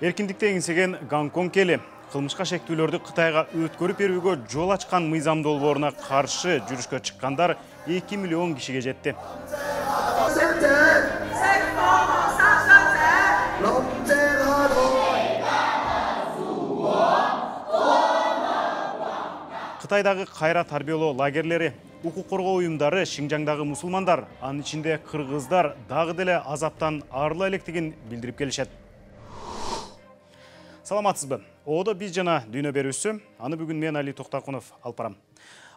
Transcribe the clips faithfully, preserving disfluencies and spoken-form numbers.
Эркиндикти эңсеген Гонконг эли кылмышка шектүүлөрдү Кытайга өткөрүп берүүгө жол ачкан мыйзам долбооруна каршы жүрүшкө чыккандар эки миллион кишиге жетти. Кытайдагы кайра тарбиялоо лагерлери, укук коргоо уюмдары, Шинжаңдагы мусулмандар, анын ичинде кыргыздар дагы деле азаптан арыла электигин билдирип келишет. Саламатсызбы? Оодо биз жана дүйнө берүүсү. Аны бүгүн мен Али Токтакунов алып барам.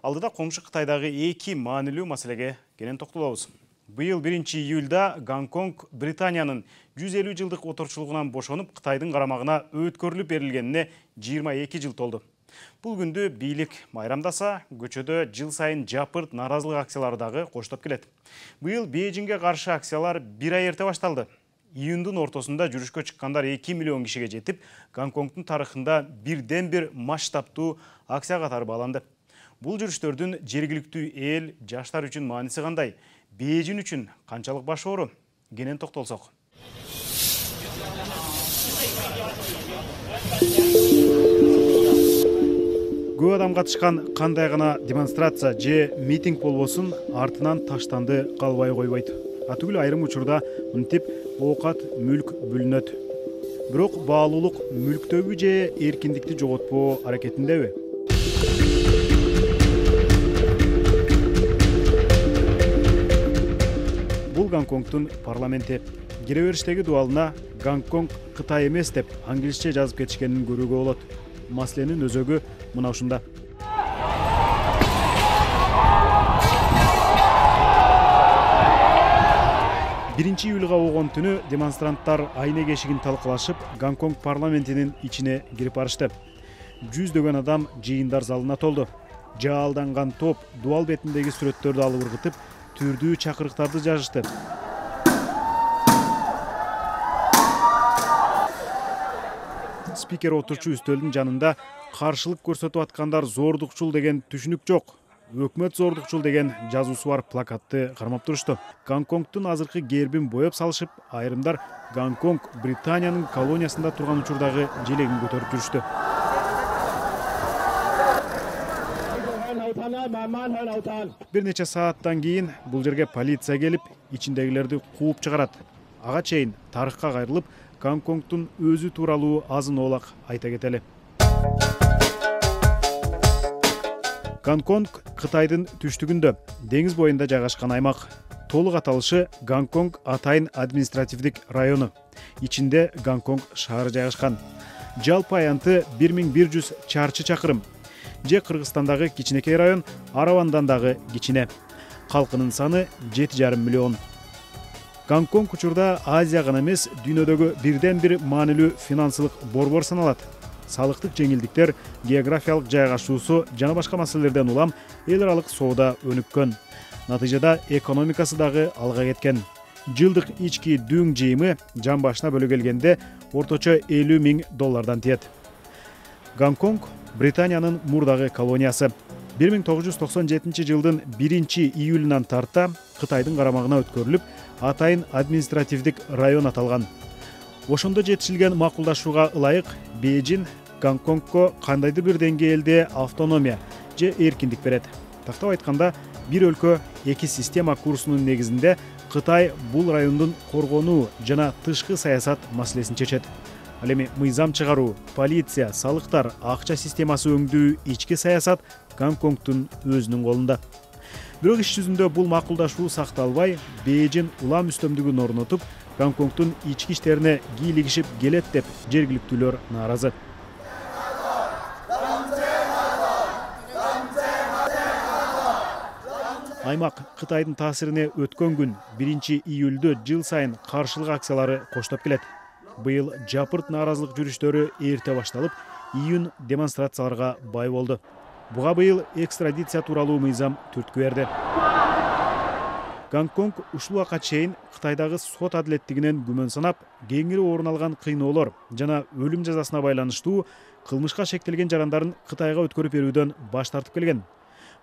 Алдыда коңшу Кытайдагы эки маанилүү маселеге кенен токтолобуз. Быйыл биринчи июлда Гонконг Британиянын жүз элүү жылдык отурчулугунан бошонуп, Кытайдын карамагына өткөрүлүп берилгенине жыйырма эки жыл толду. Бул күндү бийлик майрамдаса, көчөдө жыл сайын жапырт нааразылык акциялары дагы коштоп келет. Быйыл Бейжиңге каршы акциялар бир ай эрте башталды. Июндун ортосунда жүрүшкө чыккандар эки миллион кишиге жетип, Гонконгдун тарыхында бирден бир масштабтуу акция катары бааланды. Бул жүрүштөрдүн жергиликтүү эл, жаштар үчүн мааниси кандай, Бейжиң үчүн канчалык баш оору? Кенен токтолсок. Көп адам катышкан кандай гана демонстрация же митинг болбосун, артынан таштанды калбай койбойт. Атүгүл айрым учурда мынтип оокат, мүлк бүлүнөт. Бирок баалуулук мүлктөбү же эркиндикти жоготпоо аракетиндеби? Бул Гонконгдун парламенти. Кире бериштеги дуалына Гонконг Кытай эмес деп англисче жазып кетишкенин көрүүгө болот. Маселенин өзөгү мына ушунда. биринчи июлга болгон түнү демонстранттар айнек эшигин талкалашып, Гонконг парламентинин ичине кирип барышты. Жүздөгөн адам жыйындар залына толду. Жаалданган топ дуал бетиндеги сүрөттөрдү алып ыргытып, түрдүү чакырыктарды жазышты. Спикер отурчу үстөлдүн жанында каршылык көрсөтүп аткандар зордукчул деген түшүнүк жок. Өкмөт зордукчул деген жазуусу бар плакатты кармап турушту. Гонконгдун азыркы гербин боеп салышып, айрымдар Гонконг Британиянын колониясында турган учурдагы желегин көтөрүп жүрүштү. Бир нече сааттан кийин бул жерге полиция келип, ичиндегилерди кууп чыгарат. Ага чейин тарыхка кайрылып, Гонконгдун өзү тууралуу азын оолак айта кетели. Гонконг Кытайдын түштүгүндө, деңиз боюнда жайгашкан аймак. Толук аталышы Гонконг Атайын административдик району. Ичинде Гонконг шаары жайгашкан. Жалпы аянты бир миң бир жүз чарчы чакырым. Же Кыргызстандагы кичинекей район Аравандан дагы кичине. Калкынын саны жети жарым миллион. Гонконг учурда Азия гана эмес, дүйнөдөгү бирден бир маанилүү финансылык борбор саналат. Салыктык жеңилдиктер, географиялык жайгашуусу жана башка маселелерден улам эл аралык соода өнүккөн. Натыйжада экономикасы дагы алга кеткен. Жылдык ички дүң жыйымы жан башына бөлө келгенде орточо элүү миң доллардан тиет. Гонконг Британиянын мурдагы колониясы. бир миң тогуз жүз токсон жетинчи жылдын биринчи июлунан тарта Кытайдын карамагына өткөрүлүп, Атайын административдик район аталган. Ошондо жетишилген макулдашууга ылайык Бейжиң Гонконгко кандайдыр бир деңгээлде автономия же эркиндик берет. Тактап айтканда, бир өлкө эки система курсунун негизинде Кытай бул райондун коргонуу жана тышкы саясат маселесин чечет. Ал эми мыйзам чыгаруу, полиция, салыктар, акча системасы өңдүү, ички саясат Гонконгдун өзүнүн колунда. Бирок иш жүзүндө бул макулдашуу сакталбай, Бейжиң улам үстөмдүгүн орнотуп, Гонконгдун ички иштерине кийлигишип келет деп жергиликтүүлөр нааразы. Аймак Кытайдын таасирине өткөн күн биринчи июлдө жыл сайын каршылык акциялары коштоп келет. Быйыл жапырт нааразылык жүрүштөрү эрте башталып, июнь демонстрацияларга бай болду. Буга быйыл экстрадиция тууралуу мыйзам түрткү берди. Гонконг ушул убакка чейин Кытайдагы сот адилеттигинен күмөн санап, кеңири орун алган кыйноолор жана өлүм жазасына байланыштуу кылмышка шектелген жарандарын Кытайга өткөрүп берүүдөн баш тартып келген.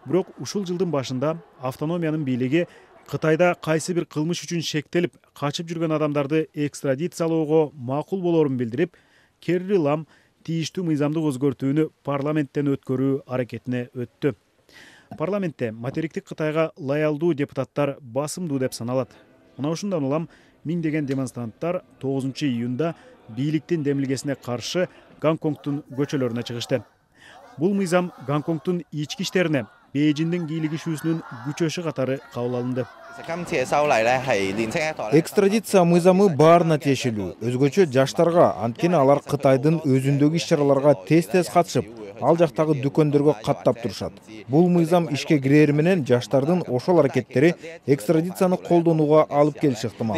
Бирок ушул жылдын башында автономиянын бийлиги Кытайда кайсы бир кылмыш үчүн шектелип, качып жүргөн адамдарды экстрадициялоого макул болорун билдирип, Керри Лам тийиштүү мыйзамдык өзгөртүүнү парламенттен өткөрүү аракетине өттү. Парламентте материктик Кытайга лоялдуу депутаттар басымдуу деп саналат. Мына ушундан улам миңдеген демонстранттар тогузунчу июнда бийликтин демилгесине каршы Гонконгдун көчөлөрүнө чыгышты. Бул мыйзам Гонконгдун ички иштерине Бейжиңдин кийлигишүүсүнүн күчөшү катары кабыл алынды. Экстрадиция мыйзамы баарына тиешелүү. Өзгөчө жаштарга, анткени алар Кытайдын өзүндөгү иш-чараларга тез-тез катышып, ал жактагы дүкөндөргө каттап турушат. Бул мыйзам ишке кирери менен жаштардын ошол аракеттери экстрадицияны колдонууга алып келиши ыктымал.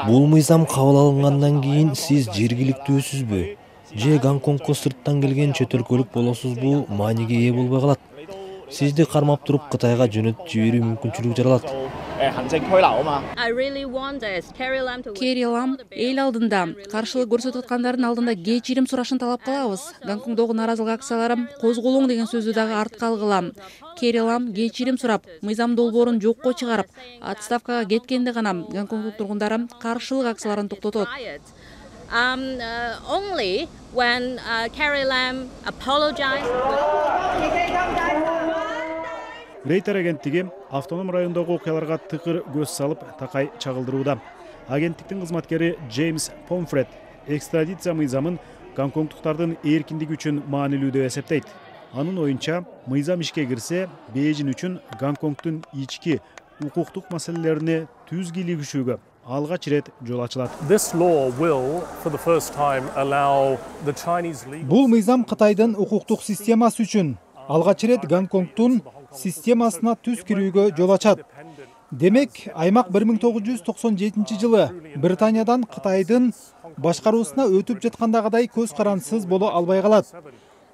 Бул мыйзам кабыл алынгандан кийин сиз жергиликтүүсүзбү же Гонконгко сырттан келген чет өлкөлүк болосузбу мааниге ээ болбой калат. Сизди кармап туруп Кытайга жөнөтүп жиберүү мүмкүнчүлүгү жаралат. Керри Лам эл алдында каршылык көрсөтүп аткандардын алдында кечирим сурашын талап кылабыз. Гонконгдогу нааразылык акциялары козголоң деген сөздү дагы артка алгыла. Керри Лам кечирим сурап, мыйзам долбоорун жокко чыгарып, отставкага кеткенде гана Гонконгдук тургундары каршылык акцияларын токтотот. Um, uh, only when uh, Carrie Lam apologized. Рейтер агенттиги автоном райондогу окуяларга тыкыр көз салып такай чагылдырууда. Агенттиктин кызматкери Джеймс Помфред экстрадиция мыйзамын гонконгдуктардын эркиндиги үчүн маанилүү деп эсептейт. Анын оюнча, мыйзам ишке кирсе, Бейжиң үчүн Гонконгдун ички укуктук маселелерине түз кийлигишүүгө алгач ирет жол ачылат. Бул мыйзам Кытайдын укуктук системасы үчүн алгач ирет Гонконгдун системасына түз кирүүгө жол ачат. Демек, аймак бир миң тогуз жүз токсон жетинчи жылы Британиядан Кытайдын башкаруусуна өтүп жаткандагыдай көз карансыз боло албай калат.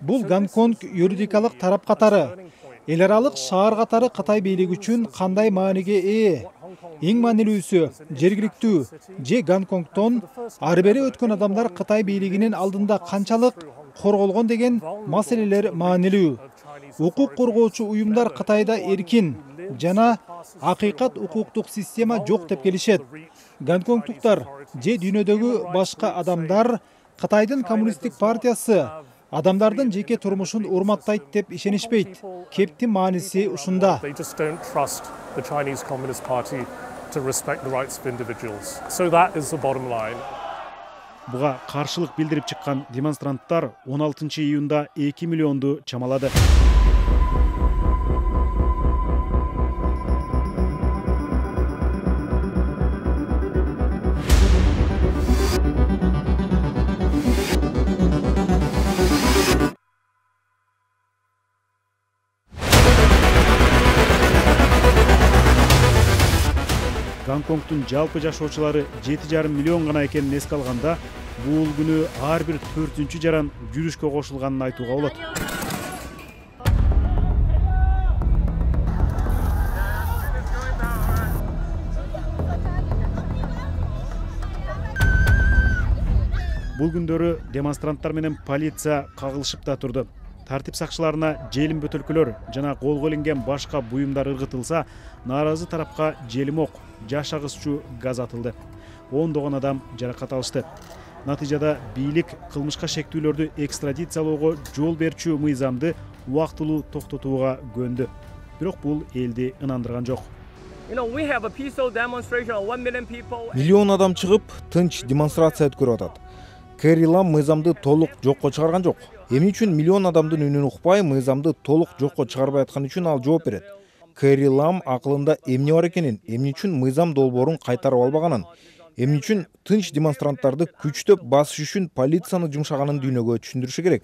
Бул Гонконг юридикалык тарап катары, эл аралык шаар катары Кытай бийлиги үчүн кандай мааниге ээ? Эң маанилүүсү, жергиликтүү же Гонконгдон ары бери өткөн адамдар Кытай бийлигинин алдында канчалык корголгон деген маселелер маанилүү. Укук коргоочу уюмдар Кытайда эркин жана акыйкат укуктук система жок деп келишет. Гонконгдуктар же дүйнөдөгү башка адамдар Кытайдын коммунисттик партиясы адамдардын жеке турмушун урматтайт деп ишенишпейт. Кептин мааниси ушунда. Буга каршылык билдирип чыккан демонстранттар он алтынчы июнда эки миллионду чамалады. Гонконгдун жалпы жашоочулары жети жарым миллион гана экенин эске алганда, бул күнү ар бир төртүнчү жаран жүрүшкө кошулганын айтууга болот. Бул күндөрү демонстранттар менен полиция кагылышып да турду. Тартип сакчыларына желим бөтөлкөлөр жана колго илинген башка буюмдар ыргытылса, нааразы тарапка желим ок, жаш агызчу газ атылды. ондогон адам жаракат алышты. Натыйжада бийлик кылмышка шектүүлөрдү экстрадициялоого жол берчү мыйзамды убактылуу токтотууга көндү. Бирок бул элди ынандырган жок. Миллион адам чыгып, тынч демонстрация өткөрүп атат. Керри Лам мыйзамды толук жокко чыгарган жок. Эмне үчүн миллион адамдын үнүн укпай, мыйзамды толук жокко чыгарбай аткан үчүн ал жооп берет. Керри Лам акылында эмне бар экенин, эмне үчүн мыйзам долбоорун кайтарып албаганын, эмне үчүн тынч демонстранттарды күчтөп басыш үчүн полицияны жумшаганын дүйнөгө түшүндүрүшү керек.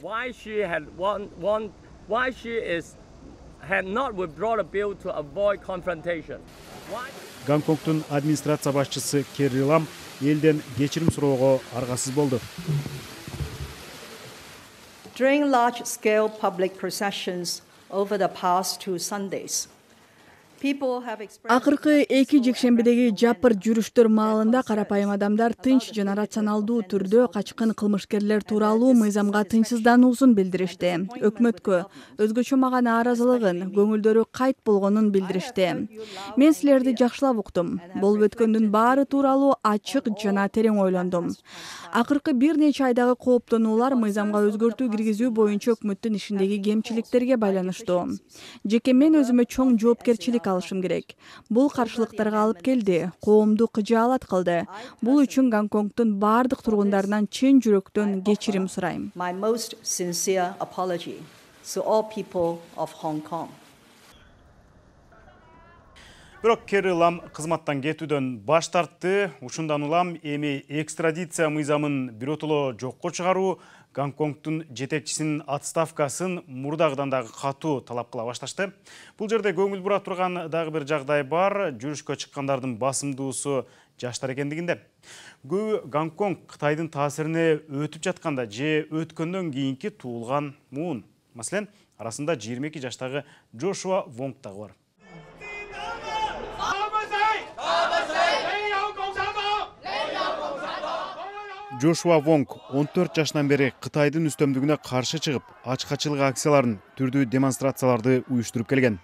Гонконгдун администрация башчысы Керри Лам элден кечирим суроого аргасыз болду. During large-scale public processions over the past two Sundays, Акыркы эки жекшембидеги жапыр жүрүштөр маалында карапайым адамдар тынч жана рационалдуу түрдө качкын кылмышкерлер тууралуу мыйзамга тынчсыздануусун билдиришти. Өкмөткө өзгөчө мага нааразылыгын, көңүлдөрү кайт болгонун билдиришти. Мен силерди жакшылап уктум. Болуп өткөндүн баары тууралуу ачык жана терең ойлондум. Акыркы бир нече айдагы кооптонуулар мыйзамга өзгөртүү киргизүү боюнча өкмөттүн ишиндеги кемчиликтерге байланыштуу. Жеке мен өзүмө чоң жоопкерчилик алышым керек. Бул каршылыктарга алып келди, коомду кыжаалат кылды. Бул үчүн Гонконгдун баардык тургундарынан чын жүрөктөн кечирим сурайм. My most sincere apology to all people of Hong Kong. Бирок Керри Лам кызматтан кетүүдөн баш тартты. Ушундан улам эми экстрадиция мыйзамын биротоло жокко чыгаруу, Гонконгдун жетекчисинин отставкасын мурдагыдан дагы катуу талап кыла башташты. Бул жерде көңүл бура турган дагы бир жагдай бар. Жүрүшкө чыккандардын басымдуусу жаштар экендигинде. Көбү Гонконг Кытайдын таасирине өтүп жатканда же өткөндөн кийинки туулган муун. Маселен, арасында жыйырма эки жаштагы Джошуа Вонг дагы бар. Джошуа Вонг он төрт жашынан бери Кытайдын үстөмдүгүнө каршы чыгып, ачкачылык акцияларын, түрдүү демонстрацияларды уюштуруп келген.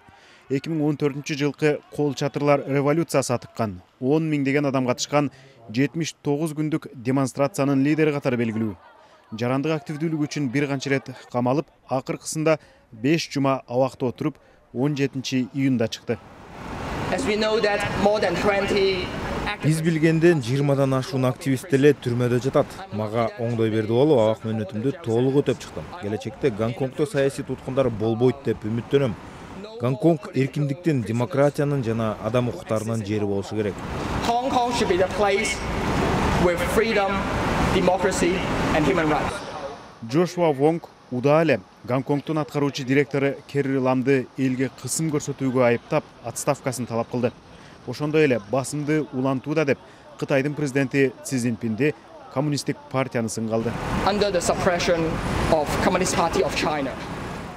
эки миң он төртүнчү жылкы кол чатырлар революциясы атыккан, он миңдеген адам катышкан жетимиш тогуз күндүк демонстрациянын лидери катары белгилүү. Жарандык активдүүлүгү үчүн бир канча ирет камалып, акыркысында беш жума абакта отуруп, он жетинчи июнда чыкты. Биз билгенден жыйырмадан ашуун активист эле түрмөдө жатат. Мага оңдой берди болуп, абак мөөнөтүмдү толук өтөп чыктым. Келечекте Гонконгдо саясий туткундар болбойт деп үмүттөнөм. Гонконг эркиндиктин, демократиянын жана адам укуктарынын жери болушу керек. Hong Kong should be the place with freedom, democracy and human rights. Джошуа Вонг удаа эле Гонконгдун аткаруучу директору Керри Ламды элге кысым көрсөтүүгө айыптап, отставкасын талап кылды. Ошондой эле басымды улантууда деп Кытайдын президенти Си Цзиньпинди коммунисттик партияны сынга алды. Under the suppression of Communist Party of China.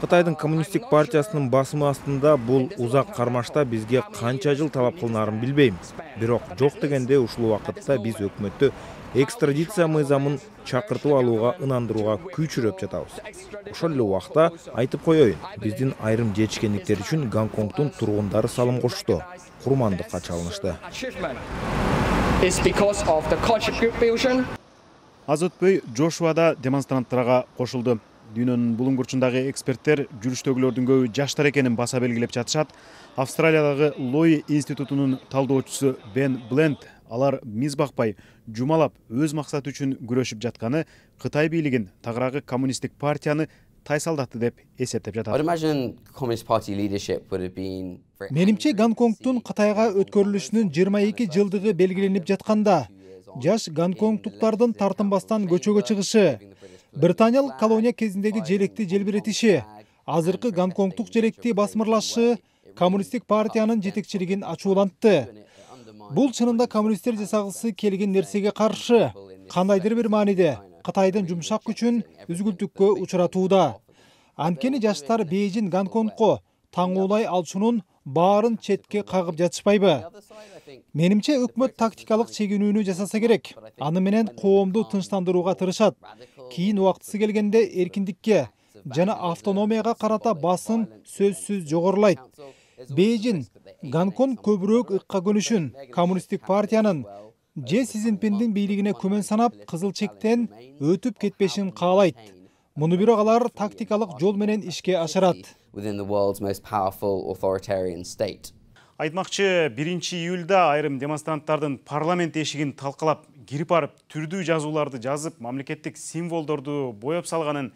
Кытайдын коммунисттик партиясынын басымы астында бул узак кармашта бизге канча жыл талап кылынаарын билбейм. Бирок жок дегенде ушул убакытта биз өкмөттү экстрадиция мыйзамын чакыртып алууга ынандырууга күчүрөп жатабыз. Ошол эле убакта айтып коеюн, биздин айрым жетишкендиктер үчүн Гонконгдун тургундары салым кошту, курмандыкка чалынышты. Аз өтпөй Джошуа да демонстранттарга кошулду. Дүйнөнүн булуңгурчундагы эксперттер жүрүштөгүлөрдүн көбү жаштар экенин баса белгилеп жатышат. Австралиядагы Лои институтунун талдоочусу Бен Бленд алар миз бакпай, жумалап өз максаты үчүн күрөшүп жатканы Кытай бийлигин, тагыраагы коммунисттик партияны тайсалдатты деп эсептеп жатат. Менимче Гонконгдун Кытайга өткөрүлүшүнүн жыйырма эки жылдыгы белгиленип жатканда, жаш гонконгтуктардын тартынбастан көчөгө чыгышы, Британиялык колония кезиндеги желекти желбиретиши, азыркы Гонконгдук желекти басмырлашы коммунисттик партиянын жетекчилигин ачуулантты. Бул чынында коммунисттер жасагысы келген нерсеге каршы, кандайдыр бир мааниде Кытайдын жумшак күчүн үзгүлтүккө учуратууда. Анткени жаштар Бейжин Гонконгго таңуулай алчунун баарын четке кагып жатышпайбы? Менимче өкмөт тактикалык чегинүүнү жасаса керек. Аны менен коомду тынчтандырууга тырышат. Кийин убактысы келгенде эркиндикке жана автономияга карата басым сөзсүз жогорулайт. Бейжин Гонконг көбүрөөк ыкка көнүшүн коммунисттик партиянын же Си Цзиньпиндин бийлигине күмөн санап, кызыл чектен өтүп кетпешин каалайт. Муну бирок алар тактикалык жол менен ишке ашырат. Айтмакчы, биринчи июлда айрым демонстранттардын парламент эшигин талкалап, кирип барып, түрдүү жазууларды жазып, мамлекеттик символдорду боеп салганын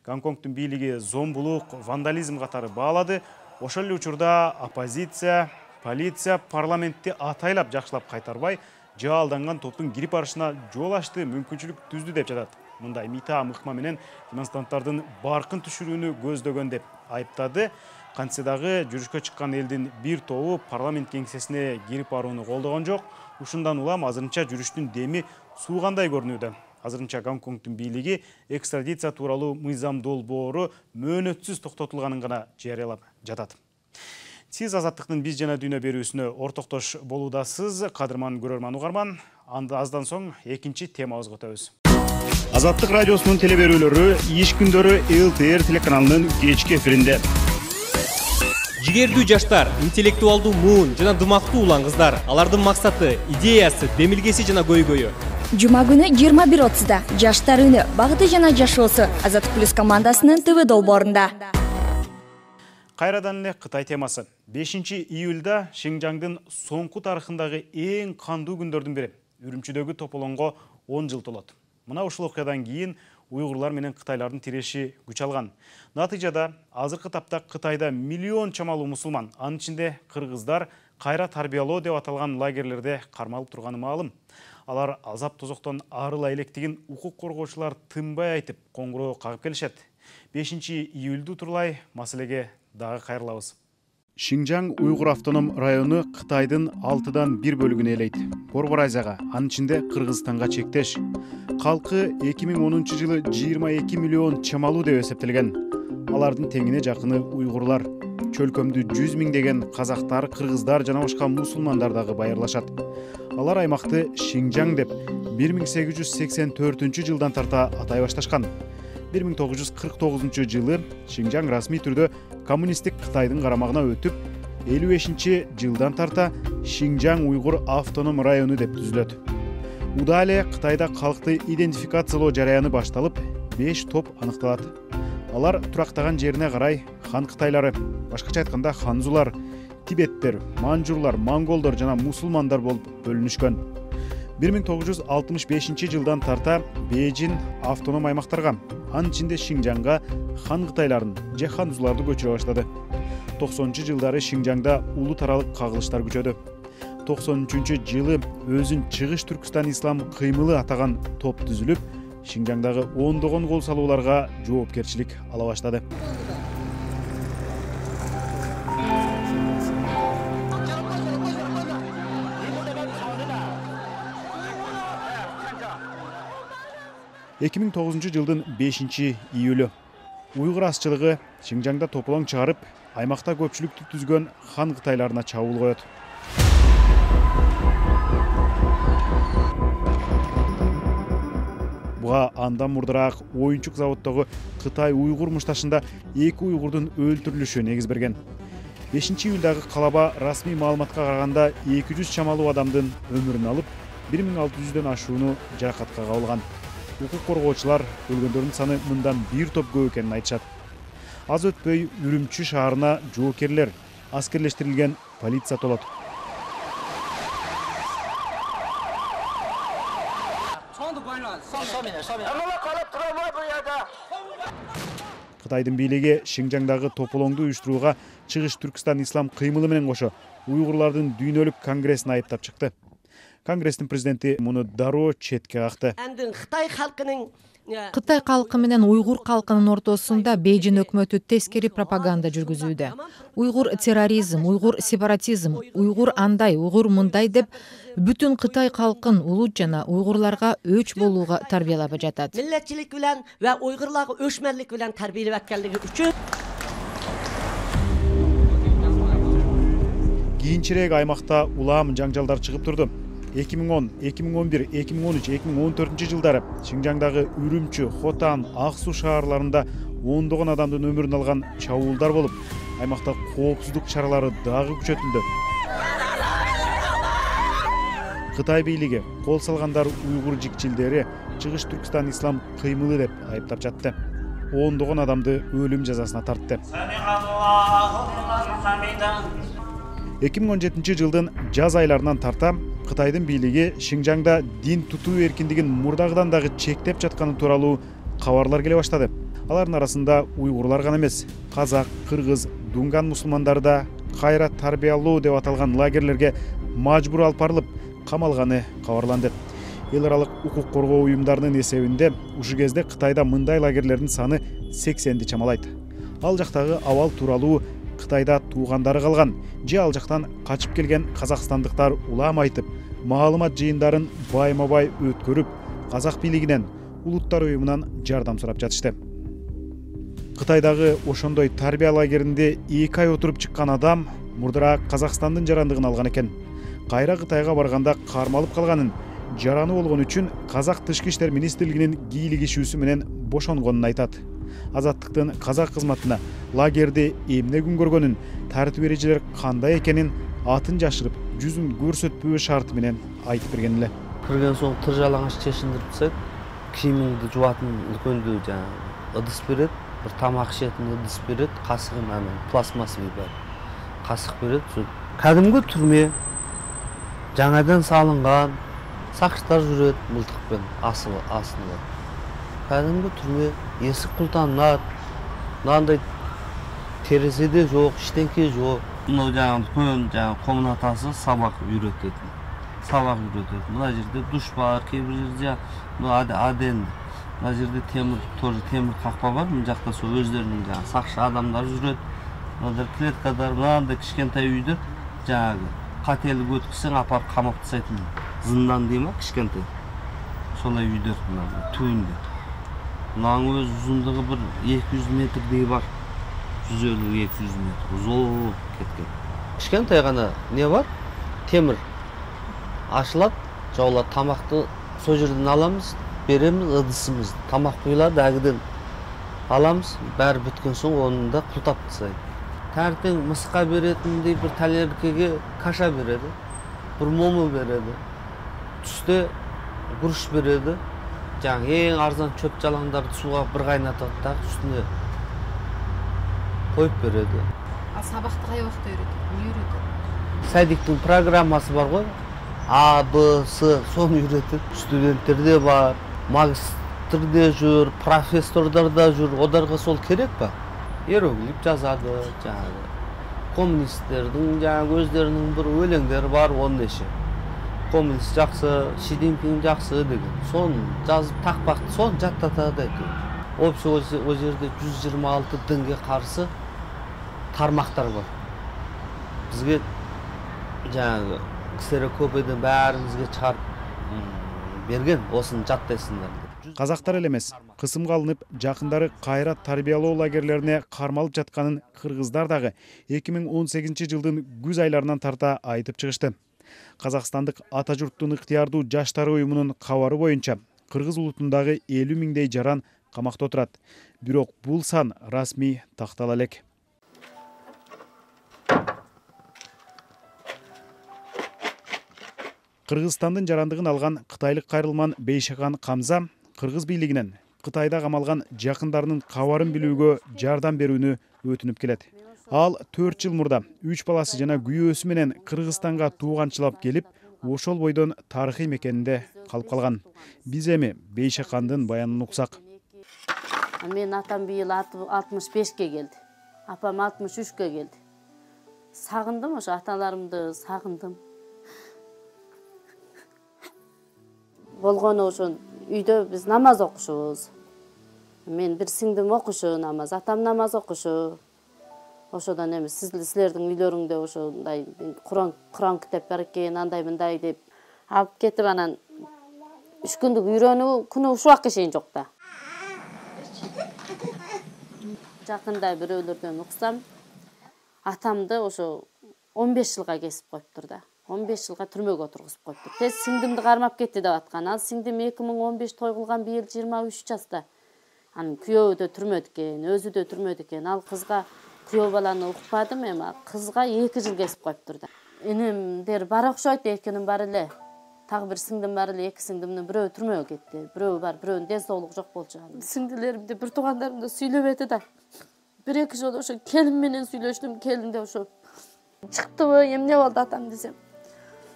Гонконгдун бийлиги зомбулук, вандализм катары баалады. Ошол эле учурда оппозиция, полиция парламентти атайлап жакшылап кайтарбай, жаалданган топтун кирип барышына жол ачты, мүмкүнчүлүк түздү деп жатат. Мындай мита мыкма менен демонстранттардын баркын түшүрүүнү көздөгөн деп айыптады. Кантсе дагы жүрүшкө чыккан элдин бир тобу парламент кеңсесине кирип барууну колдогон жок. Ушундан улам азырынча жүрүштүн деми суугандай көрүнүүдө. Азырынча Гонконгдун бийлиги экстрадиция тууралуу мыйзам долбоору мөөнөтсүз токтотулганын гана жарыялап жатат. Сиз Азаттыктын биз жана дүйнө берүүсүнө ортоктош болуудасыз. Кадырман көрөрман угарман. Анда аздан соң экинчи темабызга өтөбүз. Азаттык радиосунун теле берүүлөрү иш күндөрү эл тэ эр телеканалынын кечки эфиринде. Жигердүү жаштар, интеллектуалдуу муун жана дымактуу улан кыздар. Алардын максаты, идеясы, демилгеси жана көйгөйү. Жума күнү жыйырма бир отузда жаштар үнү багыты жана жашоосу Азаттык плюс командасынын ТВ долбоорунда. Кайрадан эле Кытай темасы. бешинчи июлда Шинжаңдын соңку тарыхындагы эң кандуу күндөрдүн бири. Үрүмчүдөгү тополоңго он жыл толот. Мына ушул окуядан кийин уйгурлар менен кытайлардын тиреши күч алган. Натыйжада азыркы тапта Кытайда миллион чамалуу мусулман, анын ичинде кыргыздар кайра тарбиялоо деп аталган лагерлерде кармалып турганы маалым. Алар азап тозоктон арыла электигин укук коргоочулар тынбай айтып, коңгуроо кагып келишет. бешинчи июлду турлай маселеге дагы кайрылабыз. Шинжаң уйгур автоном району Кытайдын алтыдан бир бөлүгүн ээлейт. Борбор Азияга, анын ичинде Кыргызстанга чектеш. Калкы эки миң онунчу жылы жыйырма эки миллион чамалуу деп эсептелген. Алардын теңине жакыны уйгурлар. Чөлкөмдү жүз миңдеген казактар, кыргыздар жана башка мусулмандар дагы байырлашат. Алар аймакты Шинжаң деп бир миң сегиз жүз сексен төртүнчү жылдан тарта атай башташкан. бир миң тогуз жүз кырк тогузунчу жылы Шинжаң расмий түрдө коммунисттик Кытайдын карамагына өтүп, элүү бешинчи жылдан тарта Шинжаң уйгур автоном району деп түзүлөт. Уда эле Кытайда калкты идентификациялоо жараяны башталып, беш топ аныкталат. Алар турактаган жерине карай хан кытайлары, башкача айтканда ханзулар, тибеттер, манжурлар, монголдор жана мусулмандар болуп бөлүнүшкөн. бир миң тогуз жүз алтымыш бешинчи жылдан тарта Бейжин автоном аймактарга, анын ичинде Шинжаңга хан кытайларын же ханзуларды көчүрө баштады. токсонунчу жылдары Шинжаңда улут аралык кагылыштар күчөдү. токсон үчүнчү жылы өзүн Чыгыш Түркстан ислам кыймылы атаган топ түзүлүп, Шинжаңдагы ондогон кол салууларга жоопкерчилик ала баштады. эки миң тогузунчу жылдын бешинчи июлү уйгур азчылыгы Шинжаңда тополоң чыгарып, аймакта көпчүлүктү түзгөн хан кытайларына чабуул коет. Буга андан мурдараак оюнчук заводдогу Кытай уйгур мушташында эки уйгурдун өлтүрүлүшү негиз берген. бешинчи июлдагы калаба расмий маалыматка караганда эки жүз чамалуу адамдын өмүрүн алып, бир миң алты жүздөн ашууну жаракатка кабылган. Укук коргоочулар өлгөндөрдүн саны мындан бир топ көп экенин айтышат. Аз өтпөй Үрүмчү шаарына жоокерлер, аскерлештирилген полиция толот. Кытайдын бийлиги Шинжаңдагы тополоңду уюштурууга Чыгыш Түркстан ислам кыймылы менен кошо уйгурлардын дүйнөлүк конгрессин айыптап чыкты. Конгресстин президенти муну дароо четке какты. Кытай калкы менен уйгур калкынын ортосунда Бейжин өкмөтү тескери пропаганда жүргүзүүдө. Уйгур терроризм, уйгур сепаратизм, уйгур андай, уйгур мындай деп бүтүн Кытай калкын улут жана уйгурларга өч болууга тарбиялап жатат. Миллетчилик менен ва уйгурларга өчмөнлүк менен тарбиялап атканлыгы үчүн кийинчерээк аймакта улам жаңжалдар чыгып турду. эки миң он, эки миң он бир, эки миң он үч, эки миң он төртүнчү жылдары Шинжаңдагы Үрүмчү, Хотан, Ак Суу шаарларында ондогон адамдын өмүрүн алган чабуулдар болуп, аймакта коопсуздук чаралары дагы күчөтүлдү. Кытай бийлиги кол салгандар уйгур жикчилдери Чыгыш Түркстан ислам кыймылы деп айыптап жатты. Ондогон адамды өлүм жазасына тартты. эки миң он жетинчи жылдын жаз айларынан тарта Кытайдын бийлиги Шинжаңда дин тутуу эркиндигин мурдагыдан дагы чектеп жатканы тууралуу кабарлар келе баштады. Алардын арасында уйгурлар гана эмес, казак, кыргыз, дунган мусулмандары да кайра тарбиялоо деп аталган лагерлерге мажбур алып барылып, камалганы кабарланды. Эл аралык укук коргоо уюмдарынын эсебинде ушул кезде Кытайда мындай лагерлердин саны сексенди чамалайт. Ал жактагы абал тууралуу Кытайда туугандары калган же ал жактан качып келген казакстандыктар улам айтып, маалымат жыйындарын байма-бай өткөрүп, казак бийлигинен, улуттар уюмунан жардам сурап жатышты. Кытайдагы ошондой тарбия лагеринде эки ай отуруп чыккан адам мурдараак Казакстандын жарандыгын алган экен. Кайра Кытайга барганда кармалып калганын, жараны болгон үчүн Казак Тышкы иштер министрлигинин кийлик ишүүсү менен бошонгонун айтат. Азаттыктын казак кызматына лагерде эмне күн көргөнүн, тартип эрежелер кандай экенин атын жашырып, жүзүн көрсөтпөө шарты менен айтып берген эле. Кирген соң тыр жалаңаш чечиндирип тастайт. Кийимиңди жуатын үлкөндүү жанагы ыдыс берет, бир тамак ишетин ыдыс берет, касыгын анан пластмассовый бар. Касык берет. Кадимги түрмө, жаңадан салынган, сакчылар жүрөт мылтыкпен асыл астында. Кадимги түрмө, эсик култанат, мындай терезе жок, иштенке жок. Мына жаңы үлкөн жаңы комнатасы сабак үйрөтөт. Сабак үйрөтөт. Мына жерде душ бар, кээ бир жерде мына аден. Мына жерде темир, тоже темир какпа бар. Мына жакта сол өздөрүнүн жаңы сакчы адамдар жүрөт. Мына клеткадар, мындай кичкентай үйдө жаңы кателик өткүзсөң апарып камап тастайт. Зындан дейм, кичкентай. Солай үйдөр мына түбүндө. Мынаның өз узундугу бир эки жүз метрдей бар. жүз элүү эки жүз метр. Узун кеткен. Кичкентай гана не бар? Темир. Ашылат, жаулар тамакты сол жерден аламыз, беремиз ыдысыбызды. Тамак куюлат, агыдан аламыз, баары бүткөн соң оны да култап тастайт. Таңертең мыска беретиндей бир талеркеге каша береді, бир мому береді. Түсте гурш береді. Жаңы эң арзан чөп жалаңдарды сууга бир кайнатат да, үстүнө коюп береді. А сабакты кай убакта үйрөтөт? Эмне үйрөтөт? Садиктин программасы бар го. А, Б, С, соны үйрөтөт. Студенттерде бар, магистрде жүр, профессордар да жүр. Оларга сол керек ба? Иероглиф жазады, жаңы коммунисттердин жаңы өздөрүнүн бир өлеңдери бар, он неше. Коммунист жакшы, Си Цзиньпин жакшы деген. Соны жазып такпакты, соны жаттатат экен. Общий о жерде жүз жыйырма алты динге каршы тармактар бар. Бизге жаңы ксерокопиядан баарыбызга чыгарып берген, осуну жаттайсыңдар деп. Казактар эле эмес, кысымга алынып, жакындары кайра тарбиялоо лагерлерине кармалып жатканын кыргыздар дагы эки миң он сегизинчи жылдын күз айларынан тарта айтып чыгышты. Казакстандык ата журттун ыктыярдуу жаштары уюмунун кабары боюнча, кыргыз улутундагы элүү миңдей жаран камакта отурат. Бирок бул сан расмий тактала элек. Кыргызстандын жарандыгын алган кытайлык кайрылман Бейшакан Камза кыргыз бийлигинен Кытайда камалган жакындарынын кабарын билүүгө жардам берүүнү өтүнүп келет. Ал төрт жыл мурда үч баласы жана күйөөсү менен Кыргызстанга тууганчылап келип, ошол бойдон тарыхый мекенинде калып калган. Биз эми Бейшакандын баянын уксак. Мен атам быйыл алтымыш бешке келди. Апам алтымыш үчкө келди. Сагындым, ошо аталарымды сагындым. Болгону ошо үйдө биз намаз окушубуз. Мен бир сиңдим окушу намаз, атам намаз окушу. Ошодон эми силердин үйлөрүңдө ошондой Куран Куран китеп бар экен, андай мындай деп алып кетип анан үч күндүк үйрөнүү күнү ушул убакка чейин жок да. Жакында бирөөлөрдөн уксам, атамды ошо он беш жылга кесип коюптур да. он беш жылга түрмөгө отургузуп коюптур. Тез сиңдимди кармап кетти деп аткан. Ал сиңдим эки миң он беш той кылган, быйыл жыйырма үч жашта. Анын күйөөү да түрмөдө экен, өзү да түрмөдө экен. Ал кызга күйөө баланы укпадым, эми кызга эки жыл кесип коюптур да. Энемдер бар окшойт, экинин бар эле. Тагы бир сиңдим бар эле, эки сиңдимдин бирөө түрмөгө кетти. Бирөө бар, бирөөнүн ден соолугу жок болчу. Сиңдилеримди, бир туугандарымды сүйлөбөдү да. Бир эки жолу ошо келин менен сүйлөштүм, келин де ошо чыктыбы, эмне болду атам десем.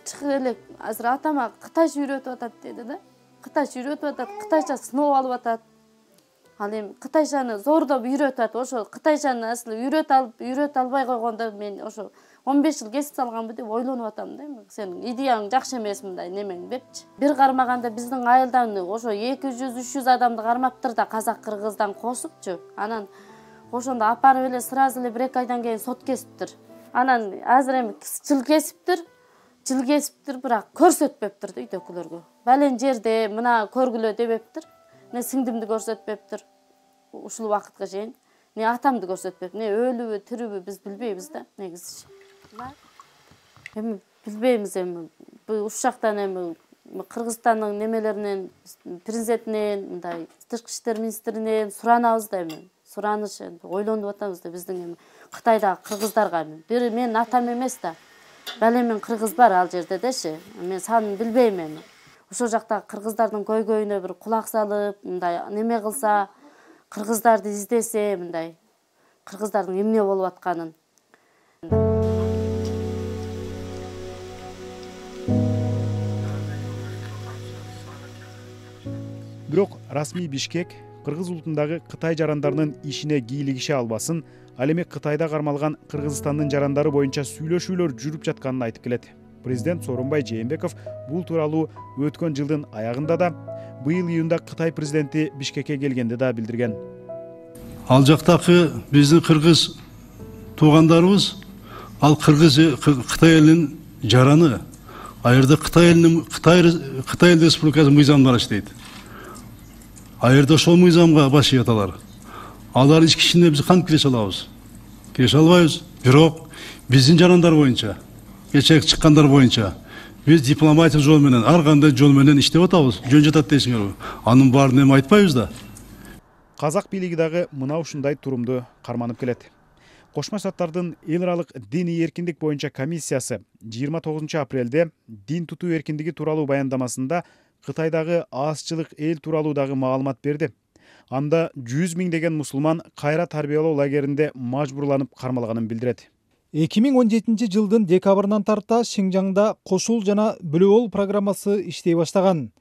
Чыгып элек, азыр атама кытайча үйрөтүп атат деди да. Кытайча үйрөтүп атат, кытайча сыноо алып атат. Ал эми кытайчаны зордоп үйрөтүп атат. Ошо кытайчаны асылы үйрөтүп алып, үйрөтүп албай койгондо мен ошо он беш жыл кесип салганбы деп ойлонуп атам да. Сенин идеяң жакшы эмес, мындай немең депчи. Бир кармаганда биздин айылдан ошо эки жүз үч жүз адамды кармаптыр да, казак кыргыздан кошупчу. Анан ошондо апарып эле сразу эле бир эки айдан кийин сот кесиптир. Анан азыр эми жыл кесиптир. Жыл кесиптир, бирок көрсөтпөптүр да үйдөгүлөргө. Бален жерде мына көргүлө дебептир. Не сиңдимди көрсөтпөптүр. Ушул убакытка чейин. Не атамды көрсөтпөп, не өлүбү, тирүүбү биз билбейбиз да, негизи. эми билбейбиз, эми ушул жактан эми Кыргызстандын немелеринен, президентинен, мындай тышкы иштер министринен суранабыз да, эми сураныш ойлонуп атабыз да, биздин эми Кытайдагы кыргыздарга эми бир менин атам эмес да, балемен кыргыз бар ал жерде деши, мен санын билбейм эми. Ошол жактагы кыргыздардын көйгөйүнө бир кулак салып, мындай неме кылса, кыргыздарды издесе, мындай кыргыздардын эмне болуп атканын. Бирок расмий Бишкек кыргыз улутундагы Кытай жарандарынын ишине кийлигише албасын, ал эми Кытайда кармалган Кыргызстандын жарандары боюнча сүйлөшүүлөр жүрүп жатканын айтып келет. Президент Сооронбай Жээнбеков бул тууралуу өткөн жылдын аягында да, быйыл июнда Кытай президенти Бишкекке келгенде да билдирген. Ал жактагы биздин кыргыз туугандарыбыз, ал кыргыз Кытай элинин жараны, а жерде Кытай элинин Кытай Кытай Республикасы мыйзамдары иштейт. А жерде ошол мыйзамга баш ийет алар. Алар ички ишине биз кантип киреше алабыз? Киреше албайбыз. Бирок биздин жарандар боюнча, кечээ чыккандар боюнча биз дипломатик жол менен, ар кандай жол менен иштеп атабыз. Жөн жатат дейсиңерби? Анын баарын эми айтпайбыз да. Казак бийлиги дагы мына ушундай турумду карманып келет. Кошмо Штаттардын эл аралык диний эркиндик боюнча комиссиясы жыйырма тогузунчу апрелде дин тутуу эркиндиги тууралуу баяндамасында Кытайдагы азчылык эл тууралуу дагы маалымат берди. Анда жүз миңдеген мусулман кайра тарбиялоо лагеринде мажбурланып кармалганын билдирет. эки миң он жетинчи жылдын декабрынан тарта Шинжаңда кошул жана бөлүү программасы иштей баштаган.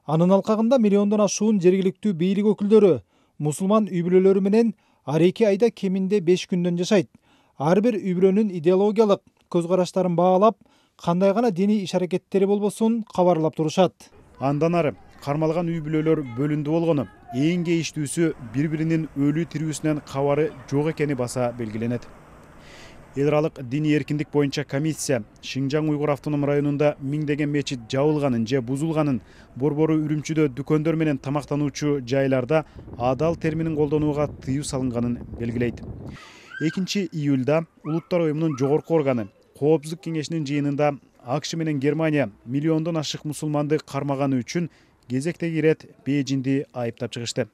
Анын алкагында миллиондон ашуун жергиликтүү бийлик өкүлдөрү мусулман үй бүлөлөрү менен ар эки айда кеминде беш күндөн жашайт. Ар бир үй бүлөнүн идеологиялык көз караштарын баалап, кандай гана диний иш аракеттери болбосун кабарлап турушат. Андан ары кармалган үй бүлөлөр бөлүндү болгону, эң кейиштүүсү бири-биринин өлүү тирүүсүнөн кабары жок экени баса белгиленет. Эл аралык диний эркиндик боюнча комиссия Шинжаң уйгур автоном районунда миңдеген мечит жабылганын же бузулганын, борбору Үрүмчүдө дүкөндөр менен тамактануучу жайларда адал терминин колдонууга тыюу салынганын белгилейт. экинчи июлда Улуттар уюмунун жогорку органы Коопсуздук кеңешинин жыйынында АКШ менен Германия миллиондон ашык мусулманды кармаганы үчүн кезектеги ирет Бейжиңди айыптап чыгышты.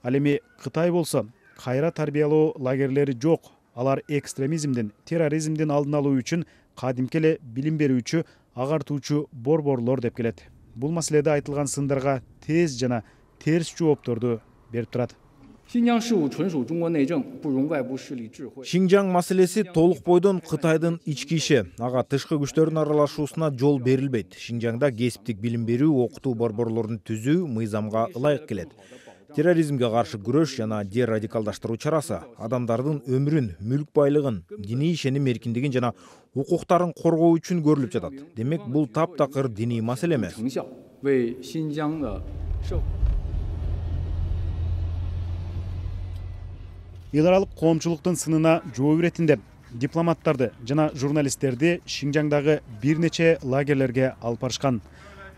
Ал эми Кытай болсо кайра тарбиялоо лагерлери жок. Алар экстремизмдин, терроризмдин алдын алуу үчүн кадимки эле билим берүүчү, агартуучу борборлор деп келет. Бул маселеде айтылган сындарга тез жана терс жоопторду берип турат. Шинжаң маселеси толук бойдон Кытайдын ички иши, ага тышкы күчтөрдүн аралашуусуна жол берилбейт. Шинжаңда кесиптик билим берүү, окутуу борборлорун түзүү мыйзамга ылайык келет. Терроризмге каршы күрөш жана дерадикалдаштыруу чарасы адамдардын өмүрүн, мүлк байлыгын, диний ишеним эркиндигин жана укуктарын коргоо үчүн көрүлүп жатат. Демек, бул таптакыр диний маселе эмес. Эл аралык коомчулуктун сынына жооп иретинде дипломаттарды жана журналисттерди Шинжаңдагы бир нече лагерлерге алып барышкан.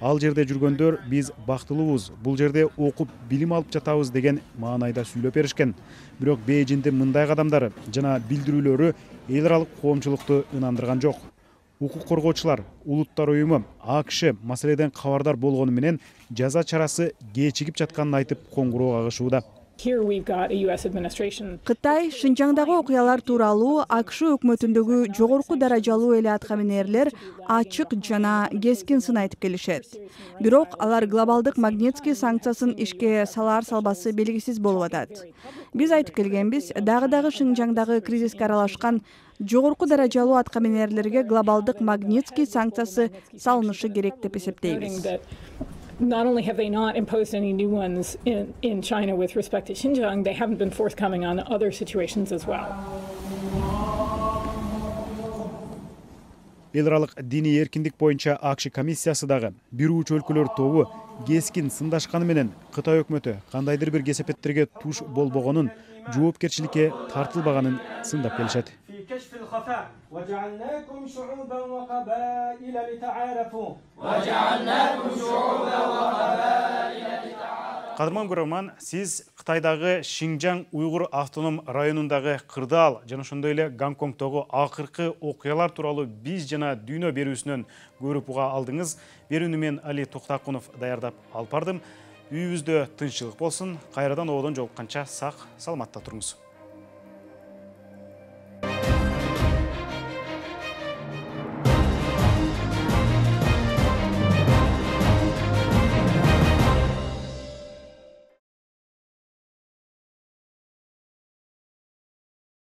Ал жерде жүргөндөр биз бактылуубуз, бул жерде окуп билим алып жатабыз деген маанайда сүйлөп беришкен. Бирок Бейжиңдин мындай кадамдары жана билдирүүлөрү эл аралык коомчулукту ынандырган жок. Укук коргоочулар, Улуттар уюму, АКШ маселеден кабардар болгону менен жаза чарасы кечигип жатканын айтып коңгуроо кагышууда. Кытай Шинжаңдагы окуялар тууралуу АКШ өкмөтүндөгү жогорку даражалуу эле аткаминерлер ачык жана кескин сын айтып келишет. Бирок алар глобалдык Магнитский санкциясын ишке салар салбасы белгисиз болуп атат. Биз айтып келгенбиз, дагы-дагы Шинжаңдагы кризиске аралашкан жогорку даражалуу аткаминерлерге глобалдык Магнитский санкциясы салынышы керек деп эсептейбиз. Not only have they not imposed any new ones in, in China with respect to Xinjiang, they haven't been forthcoming on other situations as well. Эл аралык диний эркиндик боюнча АКШ комиссиясы дагы бир уч өлкөлөр тобу кескин сындашканы менен Кытай өкмөтү кандайдыр бир кесепеттерге туш болбогонун, жоопкерчиликке тартылбаганын сындап келишет. وجعلناكم شعوبا وقبائل لتعارفوا وجعلناكم شعوبا وقبائل لتعارفوا Кадырман көрөрман, сиз Кытайдагы Шинжаң уйгур автоном районундагы кырдаал жана ошондой эле Гонконгдогу акыркы окуялар тууралуу биз жана дүйнө берүүсүнөн көрүп уга алдыңыз. Берүүнү мен Али Токтакунов даярдап алып бардым. Үйүбүздө тынччылык болсун. Кайрадан ободон жолукканча сак, саламатта туруңуз.